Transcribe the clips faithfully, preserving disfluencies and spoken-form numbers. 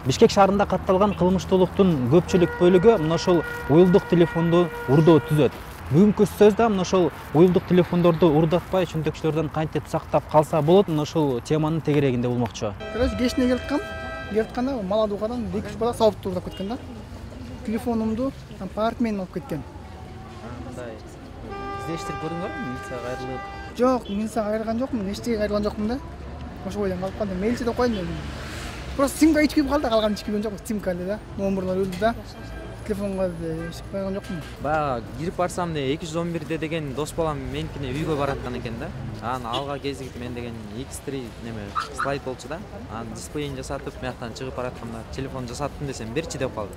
Бишкек шаарында катталган кылмыштуулуктун көпчүлүк бөлүгү мына ошол уюлдук телефонду урдоо түзөт. Бүгүнкү сөз да мына ошол уюлдук телефондорду урдатпай чөнтөкчүлөрдөн кантип сактап калса болот, мына ошол теманын тегерегинде болмокчу. Короче, кечине келаткам, келатканда Маладукадан эки үч бала сабытты урдап кеткен да. Телефонумду там портмонен алып кеткен. Мындай издештирип көрдүңөрбү? Милицияга кайрылып? Жок, милицияга кайрылган жокмун, эчтеге кайрылган жокмун да. Ошо бойдон калып калдым. Милиция деп койдум. Просто симка ичип кирип калды, калган ичип кирген жок. Симка эле да. Номерлор өлдү да. Телефонго ичип койгон жокмун. Баягы кирип барсам эле эки жүз он бирде деген дос балам меникине үйгө бараткан экен да. Анан алга кезигип мен деген икс три неме слайд болчу да. Анан дисплейин жасатып, мыяктан чыгып баратканда телефон жасаттым десем берчи деп калды.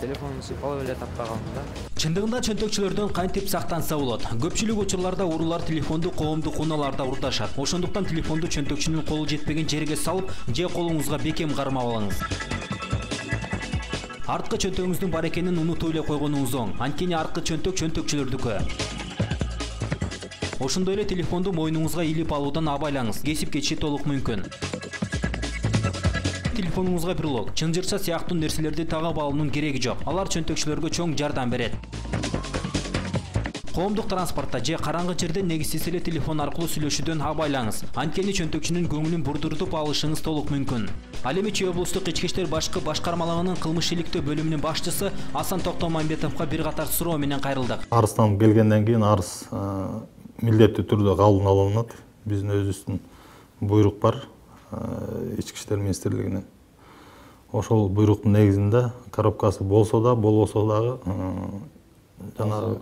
Телефонун сыйпалап эле таппай калдым да. Чындыгында чөнтөкчүлөрдөн кантип сактанса болот? Көпчүлүк учурларда уруулар телефонду коомдук унааларда урдашат. Ошондуктан телефонду чөнтөкчүнүн колу жетпеген жерге салып, же колуңузга бекем кармап алыңыз. Арткы чөнтөгүңүздүн бар экенин унутуп эле койгонуңуз оң. Анткени арткы чөнтөк чөнтөкчүлөрдүкү. Ошондой эле телефонду мойнуңузга илип алуудан абайлаңыз. Кесип кетиши толук мүмкүн. Телефонуңузга брелок, чынжырча сыяктуу нерселерди тагып алуунун кереги жок. Алар чөнтөкчүлөргө чоң жардам берет. Коомдук транспортто же караңгы жерде негизсиз эле телефон аркылуу сүйлөшүүдөн абайлаңыз. Анткени чөнтөкчүнүн көңүлүн бурдуртуп алышыңыз толук мүмкүн. Ал эми Чүй облустук ички иштер башкы башкармалыгынын кылмыш иликтөө бөлүмүнүн башчысы Асан Токтомамбетовго бир катар суроо менен кайрылдык. Арыздан келгенден кийин арыз милдеттүү түрдө кабыл алынат. Биздин өзүбүздүн буйрук бар ички иштер министрлигинен. Ошол буйруктун негизинде коробкасы болсо да, болбосо дагы жанагы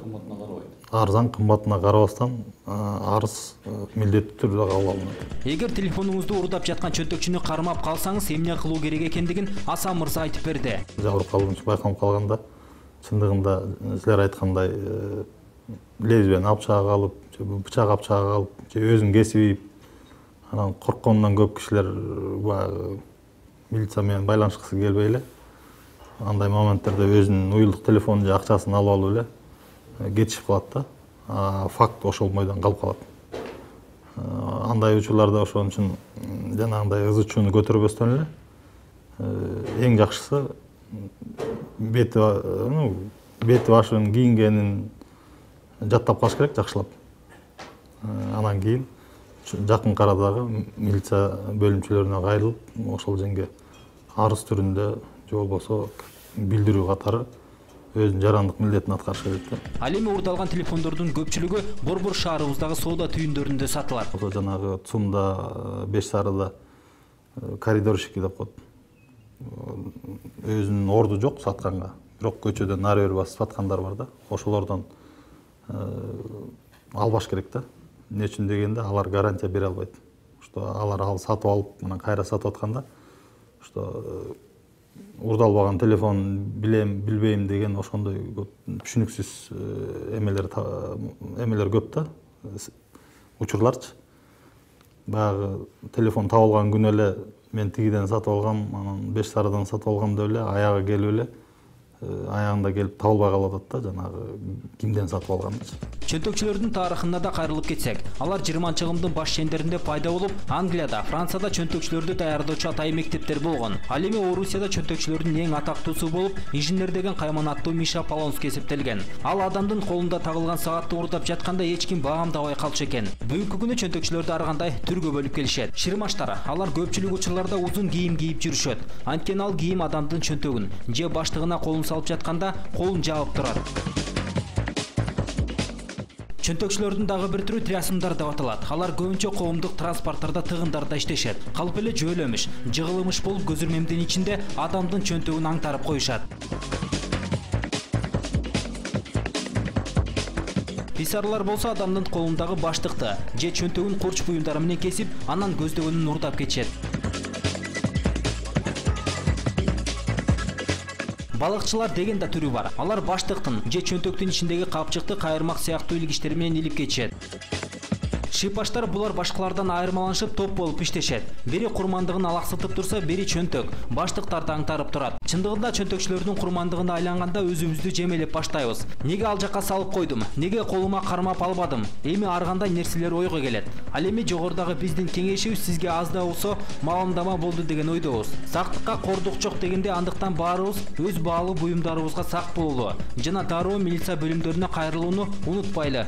арзан кымбатына карабастан арыз милдеттүү түрдө кабыл алынат. Эгер телефонуңузду урдап жаткан чөнтөкчүнү кармап калсаңыз, эмне кылуу керек экендигин Асан мырза айтып берди. Жабыркалуучу байкалып калганда, чындыгында силер айткандай лезвияны алып чыга алып, же бычак алып чыга алып, же өзүн кесип ийип, анан корккондон көп кишилер баягы милиция менен байланышкысы келбей эле андай моменттерде өзүнүн уюлдук телефонун же акчасын алып алып эле кетишип калат да. Факт ошол бойдон калып калат. Андай учурларда ошон үчүн жанагындай ызы чууну көтөрбөстөн эле эң жакшысы бети, ну, бети башын кийингенин жаттап калыш керек жакшылап. Анан кийин жакын арадагы милиция бөлүмчөлөрүнө кайрылып, ошол жерге арыз түрүндө же болбосо билдирүү катары өзүнүн жарандык милдетин аткарыш керек. Ал эми урдалган телефондордун көпчүлүгү Борбор шаарыбыздагы соода түйүндөрүндө сатылат. Ошо жанагы ЦУМда, Беш Сарыда коридорщики деп коет. Өзүнүн орду жок сатканга, бирок көчөдөн нары бери басып саткандар бар да. Ошолордон албаш керек да. Эмне үчүн дегенде алар гарантия бере албайт. Что алар ал сатып алып, анан кайра сатып атканда, что урдалбаган телефон билем, билбейм деген ошондой түшүнүксүз эмелер эмелер көп да. Учурларчы. Баягы телефон табылган күнү эле мен тигиден сатып алгам, анан Беш Сарыдан сатып алгам деп эле аягы келип эле аягында келип табылбай калып атат да, жанагы кимден сатып алганычы. Чөнтөкчүлөрдүн тарыхына да кайрылып кетсек, алар жыйырманчы кылымдын баш чендеринде пайда болуп, Англияда, Францияда чөнтөкчүлөрдү даярдоочу атайын мектептер болгон. Ал эми Орусияда чөнтөкчүлөрдүн эң атактуусу болуп, инженер деген кайманаттуу Миша Полонский эсептелген. Ал адамдын колунда тагылган саатты урдап жатканда эч ким баамдабай калчу экен. Бүгүнкү күнү чөнтөкчүлөрдү ар кандай түргө бөлүп келишет. Шырмаштар, алар көпчүлүк учурларда узун кийим кийип жүрүшөт. Анткени ал кийим адамдын чөнтөгүн же баштыгына колун салып жатканда колун жаап турат. Чөнтөкчүлөрдүн дагы бир түрү трясымдар деп аталат. Алар көбүнчө коомдук транспорттарда тыгындарда иштешет. Калп эле жөөлөмүш, жыгылымыш болуп көзүрмемдин ичинде адамдын чөнтөгүн аңтарып коюшат. Писарлар болсо адамдын колундагы баштыкты же чөнтөгүн курч буюмдары менен кесип, анан көздөгөнүн урдап кетишет. Балыкчылар деген да түрү бар. Алар баштыктын же чөнтөктүн ичиндеги капчыкты кайырмак сыяктуу илгичтер менен илип кетишет. Шипаштар булар башкалардан айырмаланышып топ болуп иштешет. Бири курмандыгын алаксытып турса, бири чөнтөк, баштыктарды аңтарып турат. Чындыгында чөнтөкчүлөрдүн курмандыгына айланганда өзүбүздү жемелеп баштайбыз. Неге ал жакка салып койдум? Неге колума кармап албадым? Эми ар кандай нерселер ойго келет. Ал эми жогорудагы биздин кеңешибиз сизге аз да болсо маалымдама болду деген ойдобуз. Сактыкка кордук жок дегенде андыктан баарыбыз өз баалуу буюмдарыбызга сак бололу жана дароо милиция бөлүмдөрүнө кайрылууну унутпайлы.